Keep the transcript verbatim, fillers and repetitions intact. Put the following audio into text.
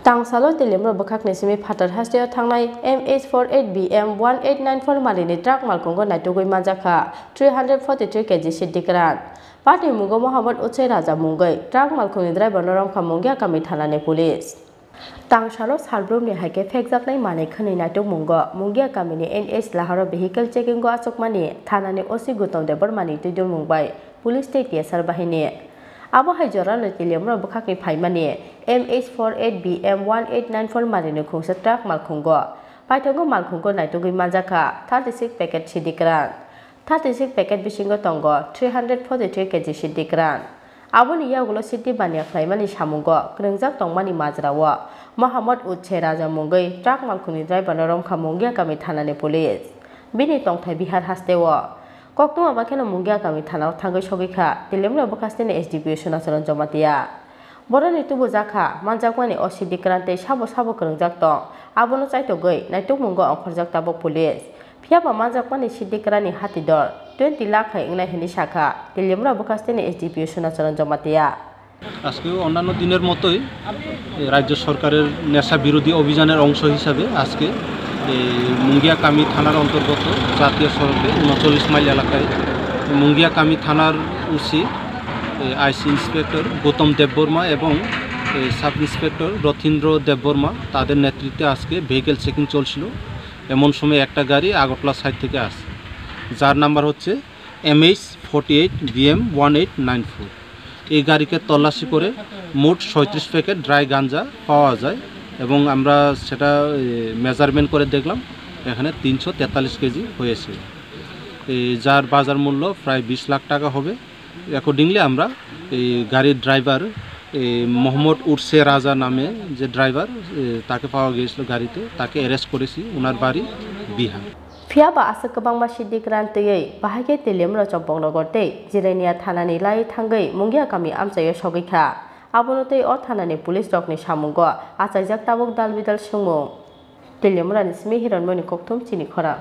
Tangsalo Teliamura bwkhakni simi phatar hasteo thangnai M H four eight B M one eight nine four marini truck malkhungo naitugwi manjakha three hundred forty three K G siddi kwran. Patni mungo Mohammad Utsai Raja mungwi truck malkhungni driver no romkha Mungia kami thanani police. Tangsalo salbrumni hai khe phekjaknai manwi khwnwi naitukmungo Mungia kamini N H laharo vehicle checking o achukmani thanani O C Gautam Debbarmani twidulmung bai police tei T S R bahini. Abo hai jorano Teliamura bwkhakni phaimani M H four eight B M one eight nine four marini khungsa truck malkhungo paithago malkhungo naitugwi manjakha thirty six packet siddi kwran. Thirty six packet bisingo tongo three hundred forty three K G siddi kwran. Aboni yagulo siddi baniya khlaimani samungo kwrwngjak tongmani majrao Mohammad Utse Raja mungwi truck malkhungni driver no romkha Mungia kami thanani police. Bini tongthai Bihar hasteo. Koktwma bakheno Mungia kami thanao thangwi sogwi kha Teliamura bwkhasteni S D P O Sunacharan Jamatia. Boroni tubujakha manjakmani O C D kwran tei sabo sabo kwrwngjak tong, abono chaitogwi naitukmungo ongkhorjak tabuk police. Phiyaba manjakmani siddi kwrani hati dor twenty lakh hai wngnai hwnwi sakha Teliamura bwkhasteni S D P O Sunacharan Jamatia. আজকেও অন্যান্য দিনের মতোই, এ, রাজ্য সরকারের নেশা বিরোধী অভিযানের অংশ হিসাবে আজকে এই মুঙ্গিয়া কামি থানার অন্তর্গত জাতীয় সড়কে ঊনচল্লিশ মাইল এলাকায় মুঙ্গিয়া কামি থানার ওসি, এ, আইসি ইন্সপেক্টর গৌতম দেববর্মা এবং, এ, সাব ইন্সপেক্টর রথীন্দ্র দেববর্মা, তাদের নেতৃত্বে আজকে ভেহিকেল চেকিং চলছিল। এমন সময় একটা গাড়ি আগরতলা সাইড থেকে আসে, যার নাম্বার হচ্ছে M H forty eight B M one eight nine four। এই গাড়িকে তল্লাশি করে মোট ছয়ত্রিশ প্যাকেট ড্রাই গাঞ্জা পাওয়া যায় এবং আমরা সেটা, এ, মেজারমেন্ট করে দেখলাম, এখানে তিনশো তেতাল্লিশ কেজি হয়েছে, এই যার বাজার মূল্য প্রায় বিশ লাখ টাকা হবে। অ্যাকর্ডিংলি আমরা এই গাড়ির ড্রাইভার, এই মোহাম্মদ উরসে রাজা নামে যে ড্রাইভার, এ, তাকে পাওয়া গিয়েছিল গাড়িতে, তাকে অ্যারেস্ট করেছি, ওনার বাড়ি Bihar. Phiyaba aswk kwbangma siddi kwran twiwi bahai khe Teliamura Champaknagar tei Jirania thanani lai thangwi Mungia kami amchaio sogwi kha. Abono tei o thanani police rokni samungo achaijak tabuk dal bidal swngmung. Teliamurani simi Hiranmoyni kokthum chini khorang.